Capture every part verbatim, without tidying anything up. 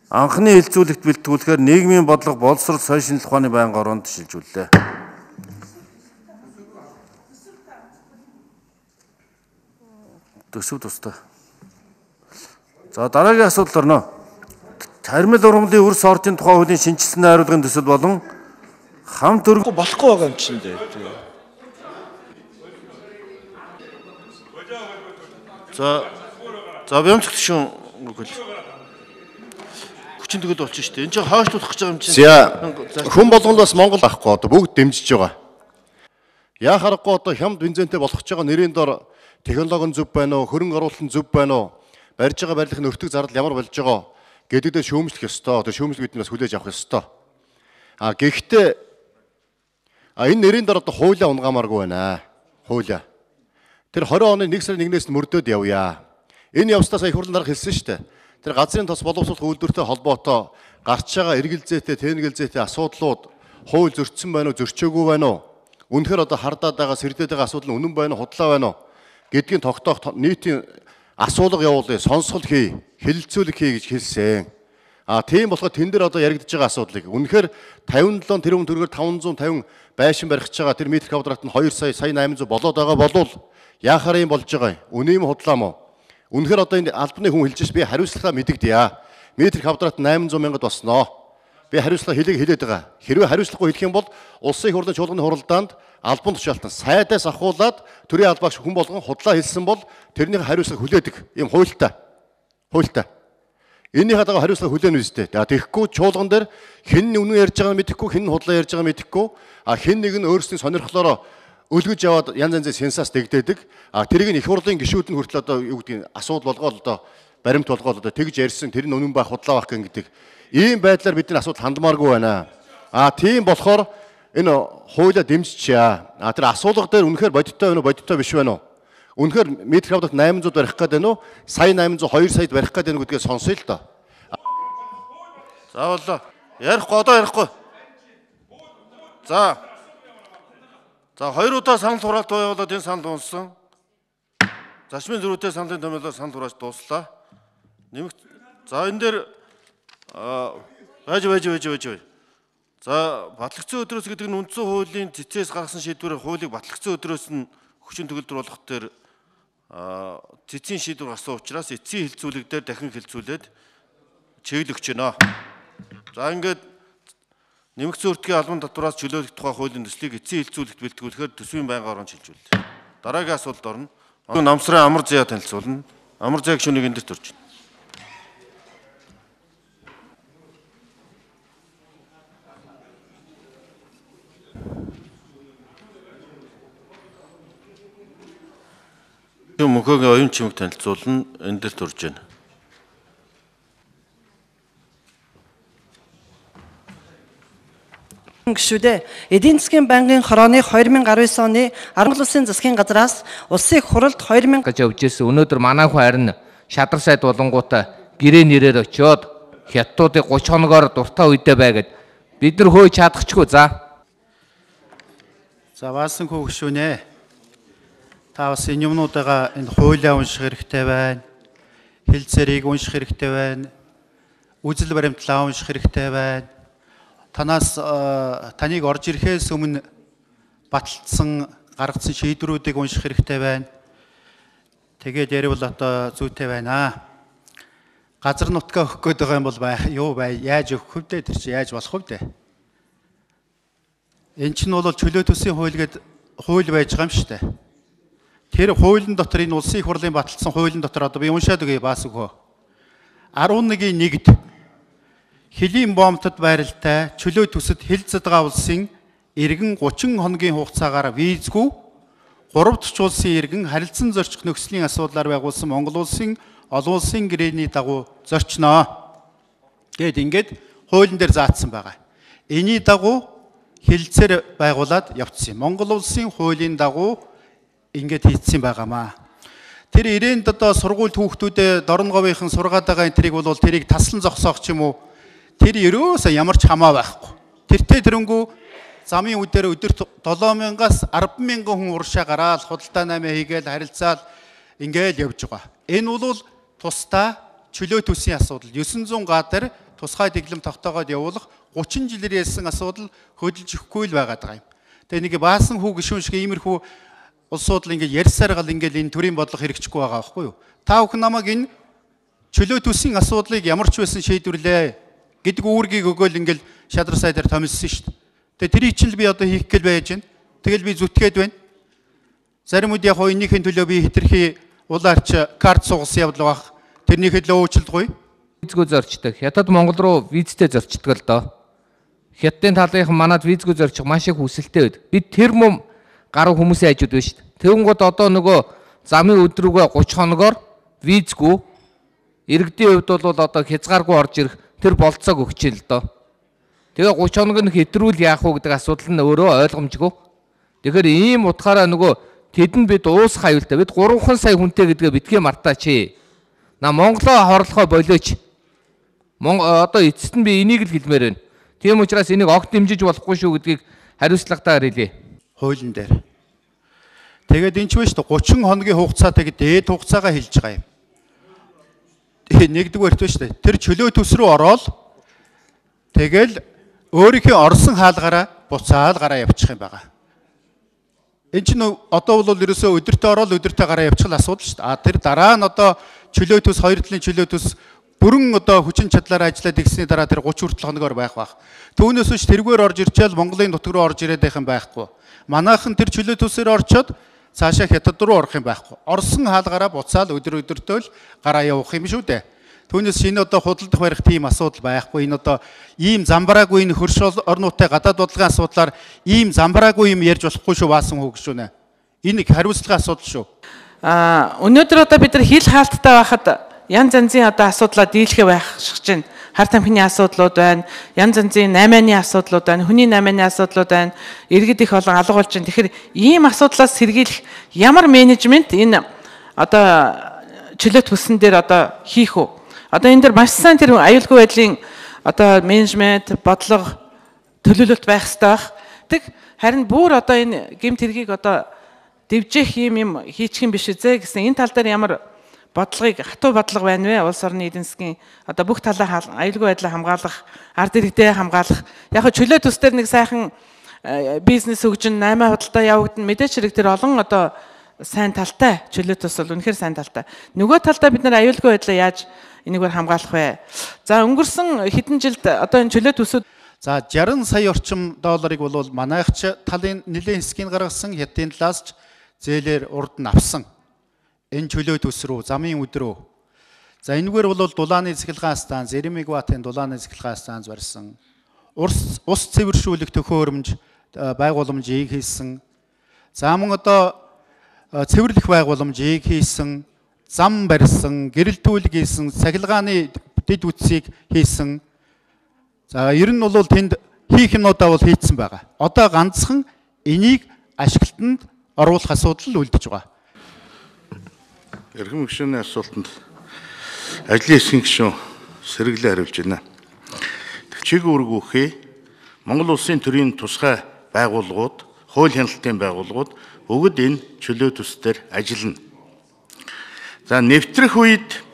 анхны хилцүүлэгт бэлтгүүлэхээр нийгмийн бодлого боловсрол соёл шинжилх ухааны байнгын ороонд шилжүүллээ. Төсөв тустай. За дараагийн асуудал орно. Хармил ургамлын өрс орчийн тухай хуулийн шинжилсэн найруулгын төсөл болон хамт өргө болохгүй байгаа юм чинь дээ. За за бямцх шүүн хүчин төгөл болчих шүү дээ. Энд чинь хойшлуулах гэж байгаа юм чинь. За хүн болгол бас Монгол ахгүй одоо бүгд дэмжиж байгаа. Яа харахгүй одоо хямд бензинтэй болгож байгаа нэрийн дор технологи нь зөв байна уу, хөрөнгө оруулалт нь зөв байна уу, барьж байгаа барилгын өртөг зардал ямар болж байгаа гэдэгдээ шүүмжлэх ёстой. Тэр шүүмжлэг бид нас хүлээж авах ёстой. А гэхдээ а энэ нэрийн дор одоо хуулиа унгаамааргүй байна. Хуулиа. Тэр двадцать оны нэг сарын нэгнээс нь мөрдөөд явъя. Энэ явцдаа сая их хурлын дарга хэлсэн шүү дээ. Тэр газрын тос боловсролт үйлдвэртэй холбоотой гарч байгаа эргэлзээтэй, тэнэгэлзээтэй асуудлууд хууль зөрчсөн байна уу, зөрчөөгүй байна уу? Үнэхээр одоо хардаад байгаа, сэрдээд байгаа асуудал нь үнэн байна уу, худлаа байна уу гэдгийг тогтоох нийтийн асуулга явуулъя, сонсгол хий, хэлэлцүүлэг хий гэж хэлсэн. А тийм болохоор тэн дээр одоо яригдж байгаа асуудлыг үнэхээр тавин долоо тэрбум төгрөгөөр таван зуун тавин байшин барих гэж байгаа тэр метр квадрат нь хоёр сая сая найман зуун болоод байгаа болвол яахаар юм болж байгаа юм? Үнэ юм худлаа мó? Үнэхээр одоо энэ албаны хүн хэлж би хариуцлагаа мэдэгдэе. Метр квадрат найман зуун мянгад босноо. Би хариуцлага хэлийг хэлээд байгаа. Хэрвээ хариуцлагагүй хэлэх юм бол улсын их хурлын чуулганы хуралдаанд албан тушаалтан сайдаас ахуулаад төрийн албаагч хүн болгон худлаа хэлсэн бол тэрний хариуцлага хүлээдэг юм хуультай. Хуультай. Энийхээ дагуу хариуцлага хүлээнэ үстэй. Тэгэхгүй чуулган дээр хэн нь үнэн ярьж байгааг мэдэхгүй, хэн нь худлаа ярьж байгааг мэдэхгүй, а хэн нэг нь өөрсдийн сонирхлоороо өлгөж яваад янз янзын сенсац дэгдээдэг. А тэрийг нь их хурлын гишүүд нь хүртэл одоо юу гэдгийг асуудал болгоод одоо баримт болгоод одоо тэгж ярьсан тэр нь үнэн байх худлаа байх гэдэг. Ийм байдлаар бидний асуудал хандмааргүй байна. А тийм болохоор энэ хуулиа дэмжчихъя. А тэр асуулга дээр үнэхээр бодиттой байна уу, бодиттой биш байна уу? Үнэхээр метр квадрат найман зуун барих гээд байна уу? Сая найман зуун хоёр саяд барих гээд байна уу гэдгээ сонсъё л доо. За болоо. Ярихгүй одоо ярихгүй. За. За хоёр удаа санал хураалт явуулаад энэ санал дууссан. Зашмын зөрүүтэй саналын томьёолоор санал хурааж дууслаа. Нэмэгт за энэ дээр байж байж байж байж. За батлагдсан өдрөөс гэдэг нь үндсэн хуулийн цэцээс гаргасан шийдвэрээр хуулийг батлагдсан өдрөөс нь хүчин төгөлдөр болгох дээр цэцийн шийдвэр гарсан учраас эцсийн хилцүүлэг дээр дахин хилцүүлээд чиглэл өгч байна. За ингээд нэмэгдсэн өртгийн албан татвараас чөлөөлөх тухай хуулийн төслийг эцсийн хилцүүлэгт бэлтгүүлэхээр төсвийн байнгын орон шилжүүллээ. Дараагийн асуулт орно. Намсрын амар заяа танилцуулна. Амар заяа гишүүнийг энэ дэвт орж байна. Мөнхөгийн оюун чимэг танилцуулна. Энэ дээр төрж байна. Гишүүдээ эдийн засгийн банкын хорооны хоёр мянга арван девять оны Монгол Улсын засгийн газраас улсын их хуралд хоёр мянга гэж явж ирсэн. Өнөөдөр манай хүн харин шадар сайд болонгуудаа гэрээ нэрээр очиод хятадуудыг гуч хоногоор дуртай үедээ байгаад бид нар хөөж чадахчгүй. За. За баасан хүү гишүүнэ. Та бас энэ юмнуудаа энэ хуулиа унших хэрэгтэй байна. Хэлцээрийг унших хэрэгтэй байна. Үзэл баримтлаа унших хэрэгтэй байна. Танаас таныг орж ирэхээс өмнө баталсан гаргасан шийдвэрүүдийг унших хэрэгтэй байна. Тэгээд яривал одоо зүйтэй байна. Газар нутгаа өгөх гээд байгаа юм бол юу бай, яаж өгөх вэ? Тэр чинь яаж болох вэ? Энд чинь бол чөлөө төсвийн хууль гэдэг хууль байж байгаа юм шүү дээ. Тэр хуулийн дотор энэ улсын их хурлын баталсан хуулийн дотор одоо би уншаад өгье баас өгөө. арван нэгний нэгд Хэлийн бомтод байралтай чөлөө төсөд хил задгаа улсын иргэн гучин хоногийн хугацаагаар визгүй гурав дахь улсын иргэн харилцан зорчих нөхцөлийн асуудлаар байгуулсан Монгол улсын олон улсын гэрээний дагуу зорчноо. Гэт ингээд хуулийн дээр заасан байгаа. Эний дагуу хилцээр байгуулад явцсан. Монгол улсын хуулийн дагуу ингээд хийцсэн байгаамаа. Тэр ирээнд одоо сургууль хүүхдүүдэд дорн говийнхан сургаад байгаа энэ тэрийг бол тэрийг таслан зогсоох ч юм уу. Тэр ерөөсөө ямар ч хамаа байхгүй. Тэртээ тэрнгүү замын үдээр өдөрт долоо мянгаас арван мянган хүн уршаа гараад худалдаа намаа хийгээл харилцаал ингээл явж байгаа. Энэ бол тусдаа чөлөө төсвийн асуудал девятьсот га дээр тусгай дэглэм тогтоогоод явуулах гучин жилээр ялсан асуудал хөдөлж өгөхгүй л байгаад байгаа юм. Тэгээ нэг баасан хүү гişүүн шиг иймэрхүү улсууд л ингээд ярьсаар гал ингээд энэ төрийн бодлого хэрэгжихгүй байгаа байхгүй юу? Та бүхэн намайг энэ чөлөө төсвийн асуудлыг ямар ч байсан шийдвэрлээ гэдэг үүргийг өгөөл ингээд шадар сайдаар томилсон шүү дээ. Тэгээ тэрийг чинь би одоо хийх гээл байж байна. Тэгэл би зүтгээд байна. Заримуд яг хоо энийхэн төлөө би хитрхи улаарч карт сугасан явдал баг. Тэрнийхэд л уучлалгүй. Визгүй зорчдог. Хятад Монгол руу визтэй зорчдог л доо. Хятадын талынхан манад визгүй зорчих маш их хүсэлтэй байд. Бид тэр мөм гаруй хүмүүсийн хажууд байна шүү дээ. Тэгэнгүүт одоо нөгөө замын өдрүүгээ гуч хоногоор визгүй иргэдийн хувьд бол одоо хязгааргүй орж ирэх тэр болцоог өгчээ л доо. Тэгээ гуч хоног нь хэтрүүл яах вэ гэдэг асуудал нь өөрөө ойлгомжгүй. Тэгэхээр ийм утгаараа нөгөө тэдэнд бид уус хавилтаа бид гурван сая хүнтэй гэдгээ битгий мартаач. На Монголоо хорлохоо болооч. Одоо эцэст нь би энийг л хэлмээр байна. Тийм учраас энийг огт дэмжиж болохгүй шүү гэдгийг хариуцлагатайгаар хэлье. Хуулийн дээр. Тэгээд энэ ч биш гучин хоногийн хугацаатай дээд хугацаагаа хэлж байгаа юм. Нэгдүгээрт биш үү? Тэр чөлөө төс рүү ороод тэгэл өөрийнхөө орсон хаалгаараа буцаал гараа явчих юм байгаа. Энэ чинь одоо бол ерөөсөө өдөртөө ороод өдөртөө гараа явчих асуудал шүү дээ. А тэр дараа нь одоо чөлөө төс хоёр талын чөлөө төс бүрэн одоо хүчин чадлаараа ажиллаад игсний дараа тэр гучин хүртэл хоногоор байх байх. Түүнээс биш тэргээр орж ирчээл Монголын нутаг руу орж ирээд байх юм байхгүй. Манайхан тэр чөлөө төсөөр орчоод цаашаа хятад руу орох юм байхгүй. Орсон хаалгаараа буцаал өдөр өдөртөө л гараа явах юм шүү дээ. Түүнээс шинэ одоо худалдах барих тийм асуудал байхгүй. Энэ одоо ийм замбраагүй энэ хөрш орнуудтай гадаад бодлогын асуудлаар ийм замбраагүй юм ярьж болохгүй шүү баасан хөө гişүүнэ. Энэ их хариуцлагын асуудал шүү. Аа өнөөдөр одоо бид нар хил хаалттай байхад янз янзын одоо асуудлаа дийлэхэ байх шиг чинь хар тамхины асуудлууд байна, янз янзын наймааны асуудлууд байна, хүний наймааны асуудлууд байна, иргэд их олон алга болж байна. Тэгэхээр ийм асуудлаас сэргийлэх ямар менежмент энэ одоо чөлөө төсөн дээр одоо хийх үү? Одоо энэ дэр маш сайн тэр аюулгүй байдлын одоо менежмент, бодлого, төлөвлөлт байх хэрэгтэй байх. Тэг харин бүр одоо энэ гэмт хэргийг одоо дэвжих юм юм хийчих юм биш үзээ гэсэн энэ тал дээр ямар бодлогыг хатуу бодлого байна вэ? Улс орны эдийн засгийн одоо бүх талаа аюулгүй байдлаа хамгаалах, ард иргэдээ хамгаалах. Яг хөө чөлөө төс дээр нэг сайхан бизнес хөгжин наймаа худалдаа явагдана. Мэдээч хэрэг тэр олон одоо сайн талтай чөлөө төс бол үнэхээр сайн талтай. Нөгөө талдаа бид нар аюулгүй байдлаа яаж энийгээр хамгаалах вэ? За өнгөрсөн хэдэн жилд одоо энэ чөлөө төсөд за шестьдесят сая орчим долларыг бол манайхч талын нэлийн хэсгийг гаргасан, хятадын талаас ч зээлээр урд нь авсан. Энэ чөлөө төс рүү замын өдрөө. За энэгээр бол дулааны цэглэгаан станц, нэр мегаваттын дулааны цэглэгаан станц барьсан. Ус ус цэвэршүүлэх төхөөрөмж байгууламжийг хийсэн. За мөн одоо цэвэрлэх байгууламжийг хийсэн, зам барьсан, гэрэлтүүлэг хийсэн, цахилгааны дэд үтсийг хийсэн. За ер нь бол тэнд хийх юмудаа бол хийцэн байгаа. Одоо ганцхан энийг ашиглалтанд оруулах асуудал үлдэж байгаа. Эрхэм гишүүний асуултанд ажлын хэсгийн гишүүн сэргэлэн хариулж байна. Чиг үүргүүхээ Монгол улсын төрийн тусгай байгууллагууд, хууль хяналтын байгууллагууд бүгд энэ чөлөө төсдөр ажиллана. За нэвтрэх үед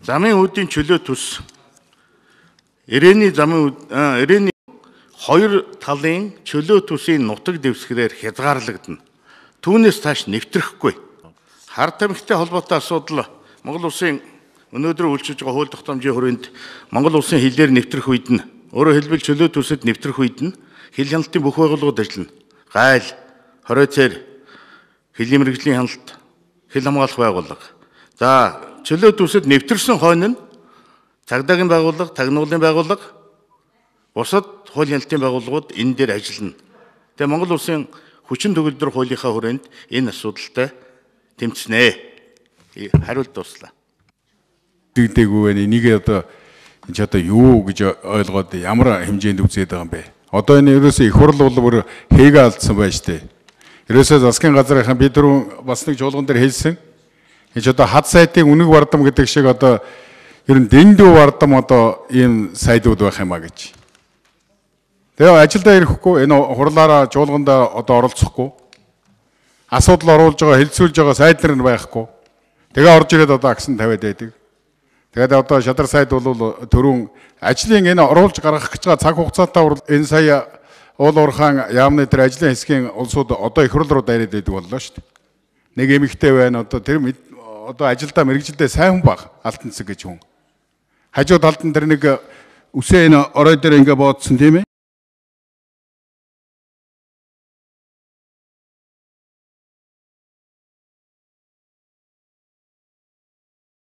замын үүдийн чөлөө төс ирээний замын ирээний хоёр талын чөлөө төсийн нутаг дэвсгэрээр хязгаарлагдана. Түүнээс тааш нэвтрэхгүй. Хар тамхитай холбоотой асуудал Монгол улсын өнөөдөр үйлчилж байгаа хууль тогтоомжийн хүрээнд Монгол улсын хилээр нэвтрэх үед нь өөрөөр хэлбэл чөлөө төсөд нэвтрэх үед нь хил хяналтын бүх байгууллагууд ажиллана. Гайл, хоройцоор, хилийн мэргэжлийн хяналт, хил хамгаалах байгууллага. За чөлөө төсөд нэвтэрсэн хойно нь цагдаагийн байгууллага, тагнуулын байгууллага, бусад хууль хяналтын байгууллагууд энэ дээр ажиллана. Тэгээ Монгол улсын хүчин төгөлдөр хуулийнхаа хүрээнд энэ асуудалтай тэмцэнэ. Хариулт дуслаа. Дэгдэггүй байна. Энийг одоо энэ ч одоо юу гэж ойлгоод ямар хэмжээнд үзээд байгаа юм бэ? Одоо энэ ерөөсөө их хурл бол бүр хэгээ алдсан байна шүү дээ. Ерөөсөө засгийн газрынхан бид түрүү бас нэг жуулган дээр хэлсэн. Энэ ч одоо хад сайтын үнэг бардам гэдэг шиг одоо ер нь дэндүү бардам одоо ийм сайдууд байх юмаа гэж. Тэгээ ажилдаа ирэхгүй энэ хурлаараа жуулгандаа одоо оролцохгүй. Асуудал оруулж байгаа, хэлцүүлж байгаа сайд нар нь байхгүй. Тэгээ орж ирээд одоо аксан тавиад байдаг. Тэгээд одоо Шадар сайд бол түрүүн ажлын энэ оруулж гаргах гэж байгаа цаг хугацаатай энэ сая уул уурхаан яамны тэр ажлын хэсгийн улсууд одоо их хурл руу дайраад байдаг боллоо шүү дээ. Нэг эмэгтэй байна одоо тэр одоо ажилдаа мэрэгжилдээ сайн хүн баг алтан цэг гэж хүн. Хажуу талд нь тэр нэг үсээ энэ орой дээр ингээ боодсон тийм ээ.